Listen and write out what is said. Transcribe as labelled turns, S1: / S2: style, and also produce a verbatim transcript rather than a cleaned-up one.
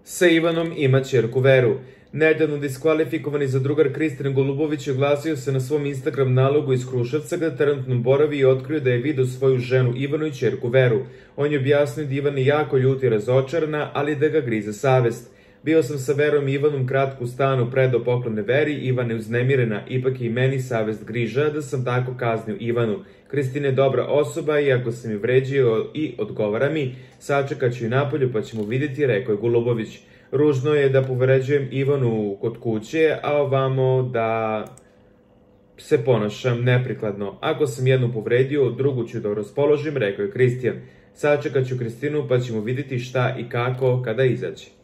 S1: Sa Ivanom ima ćerku Veru. Nedavno diskvalifikovani zadrugar Kristijan Golubović oglasio se na svom Instagram nalogu iz Kruševca gde trenutno boravi i otkrio da je video svoju ženu Ivanu i ćerku Veru. On je objasnio da Ivana je jako ljuta i razočarana, ali da ga grize savest. Bio sam sa Verom i Ivanom kratko u stanu, predao poklone Veri, Ivana je uznemirena, ipak je i meni savest griža da sam tako kaznio Ivanu. Kristina je dobra osoba, iako sam je vređio i odgovara mi, sačekat ću i napolju pa ćemo vidjeti, rekao je Golubović. Ružno je da povređujem Ivanu kod kuće, a ovamo da se ponašam neprikladno. Ako sam jednu povredio, drugu ću da raspoložim, rekao je Kristijan. Sačekat ću Kristinu pa ćemo vidjeti šta i kako kada izađe.